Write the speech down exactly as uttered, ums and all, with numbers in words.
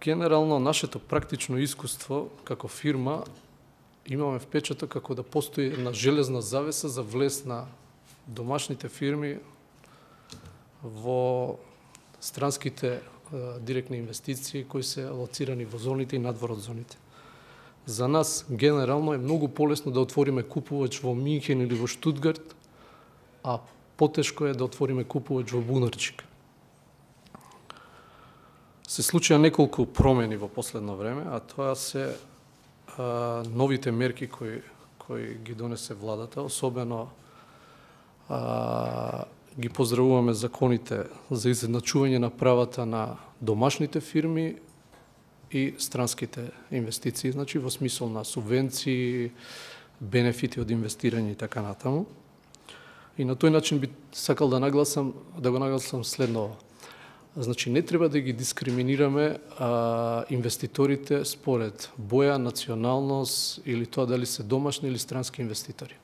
Генерално, нашето практично искуство како фирма имаме впечаток како да постои една железна завеса за влез на домашните фирми во странските директни инвестиции кои се лоцирани во зоните и надвор од зоните. За нас, генерално, е многу полесно да отвориме купувач во Минхен или во Штутгарт, а потешко е да отвориме купувач во Бунарчик. Се случија неколку промени во последно време, а тоа се а, новите мерки кои, кои ги донесе владата, особено а, ги поздравуваме законите за изедначување на правата на домашните фирми и странските инвестиции, значи во смисол на субвенции, бенефити од инвестирање и така натаму. И на тој начин би сакал да нагласам, да го нагласам следно. Значи, не треба да ги дискриминираме а, инвеститорите според боја, националност или тоа дали се домашни или странски инвеститори.